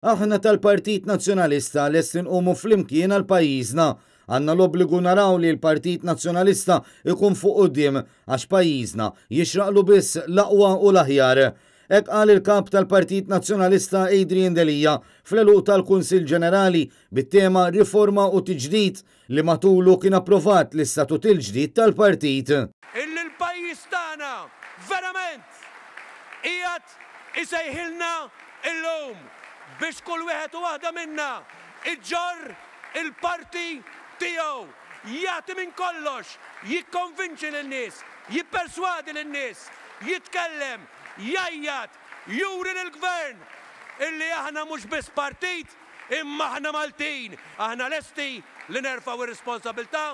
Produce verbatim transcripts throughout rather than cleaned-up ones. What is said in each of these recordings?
Aħna tal-Partit Nazzjonalista lesti nqumu flimkien għal pajjiżna. Għandna l-obbligu naraw li l-Partit Nazzjonalista ikun fuq quddiem għax pajjiżna jixraqlu biss l-aqwa u l-aħjar. Hekk qal il-kap tal-Partit Nazzjonalista Adrian Delia fl-għeluq tal-Kunsill Ġenerali bit-tema Riforma u Tiġdid li matulu kien approvat l-istatut il-ġdid tal-partit. Illi l-pajjiż tagħna verament qiegħed isejħilna illum biex kull wieħed u waħda minna iġorr il-parti tiegħu, jagħti minn kollox, jikkonvinċi lin-nies, jipperswadi lin-nies, jitkellem, jgħajjat, juri lill-gvern illi aħna mhux biss partit imma aħna Maltin, aħna lesti li nerfgħu ir-responsabilità,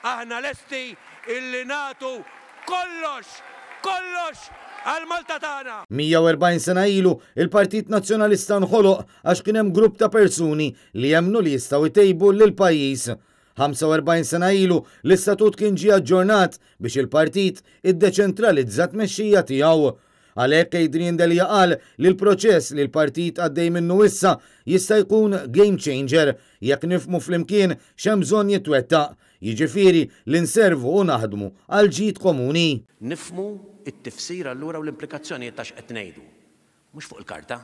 aħna lesti illi nagħtu kollox, kollox għal Malta tagħna. mija u erbgħin sena ilu, il-Partit Nazzjonalista nħoloq għax kien hemm grupp ta' persuni li jemmnu li jistgħu jtejbu lil pajjiż. ħamsa u erbgħin sena ilu, l-istatut kien ġie aġġornat biex il-partit iddeċentralizza t-tmexxija tiegħu. Għalhekk Adrian Delia qal li l-proċess li l-partit għaddej minnu issa jista' jkun game changer jekk nifhmu flimkien x'hemm bżonn jitwettaq, jiġifieri li nservu u naħdmu għal ġid komuni. Nifhmu it-tifsir allura u l-implikazzjonijiet ta' x'qed ngħidu. Mhux fuq il-karta,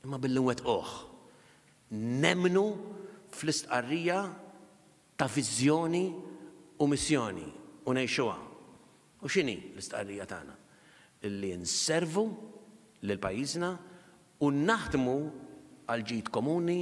imma billi nwettquh. Nemmnu fl-istqarrija ta' viżjoni u missjoni u ngħixuha. U x'inhi l-istqarrija tagħna? Illi nservu lil pajjiżna u naħdmu għal ġid komuni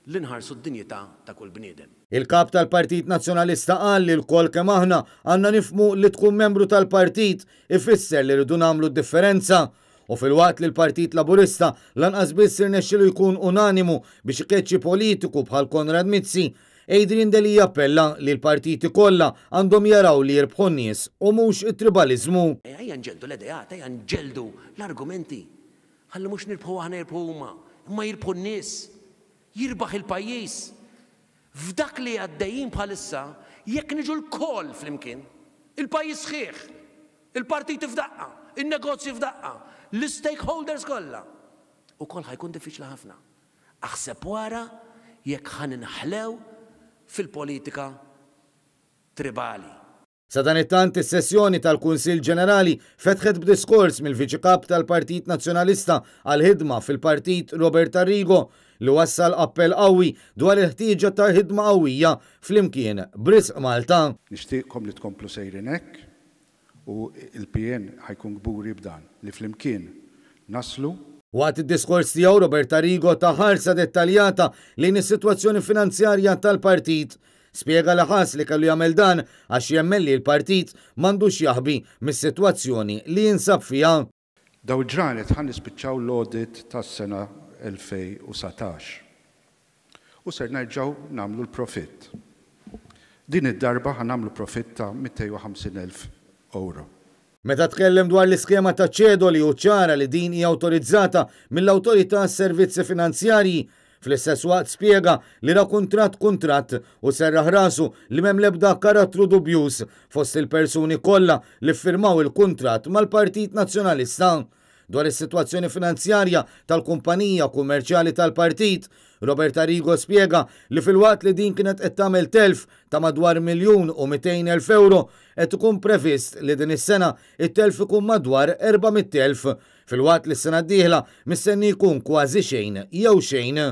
li nħarsu d-dinjità ta' kull bniedem. Il-kap tal-Partit Nazzjonalista qal li lkoll kemm aħna għandna nifhmu li tkun membru tal-partit ifisser li rridu nagħmlu differenza. U filwaqt li l-Partit Laburista lanqas biss irnexxielu jkun unanimu biex ikeċċi politiku bħal Konrad Mizzi, Adrian Delia appella li l-partiti kollha għandhom jaraw li jirbħu n-nies u mhux it-tribalizmu. Ejja nġeldu l-ideat, ejja nġeldu l-argumenti. Ħalli mhux nirbħu aħna, jirbħu huma, imma jirbħu n-nies. Jirbaħ il-pajjiż. F'dak li għaddejjin bħalissa, jekk niġu lkoll flimkien, il-pajjiż sħiħ, il-partiti f'daqqa, il-negozji f'daqqa, l-stakeholders kollha. Ukoll ħa jkun diffiċli ħafna. Aħseb wara jekk ħa ninħlew fil-politika tribali. Sadanittant, is-sessjoni tal-Kunsill Ġenerali fetħet b'diskors mill-Viċi Kap tal-Partit Nazzjonalista għal-ħidma fil-Partit Robert Arrigo li wassal appell qawwi dwar il-ħtieġa ta' ħidma qawwija flimkien b'risq Malta. Nixtieqkom li tkomplu sejrin hekk u il-P N ħa jkun kburi b'dan li flimkien naslu. Waqt id-diskors tiegħu, Robert Arrigo ta ħarsa dettaljata lejn is-sitwazzjoni finanzjarja tal-partit. Spjega li ħass li kellu jagħmel dan għax jemmen li l-partit m'għandux jaħbi mis-sitwazzjoni li jinsab fiha. Daw il-ġranet ħa nispiċċaw l-audit tas-sena elfejn u dsatax. U ser nerġgħu nagħmlu l-profitt. Din id-darba ħa nagħmlu profitt ta' mitejn u ħamsin elf euro. Meta tkellem dwar l-iskema ta' ċedoli u ċara li din hija awtorizzata mill-Awtorità Servizzi Finanzjarji, fl-istess waqt spjega li ra kuntratt kuntratt u serraħ rasu li m'hemm l-ebda karattru dubjuż fost il-persuni kollha li firmaw il-kuntratt mal-Partit Nazzjonalista. Dwar is-sitwazzjoni finanzjarja tal-kumpanija kummerċjali tal-partit, Robert Arrigo spjega li filwaqt li din kienet qed tagħmel telf ta' madwar miljun u mitejn elf euro, qed ikun previst li din is-sena it-telf ikun madwar erba' mitt elf, filwaqt li s-sena d-dieħla mistenni jkun kważi xejn jew xejn.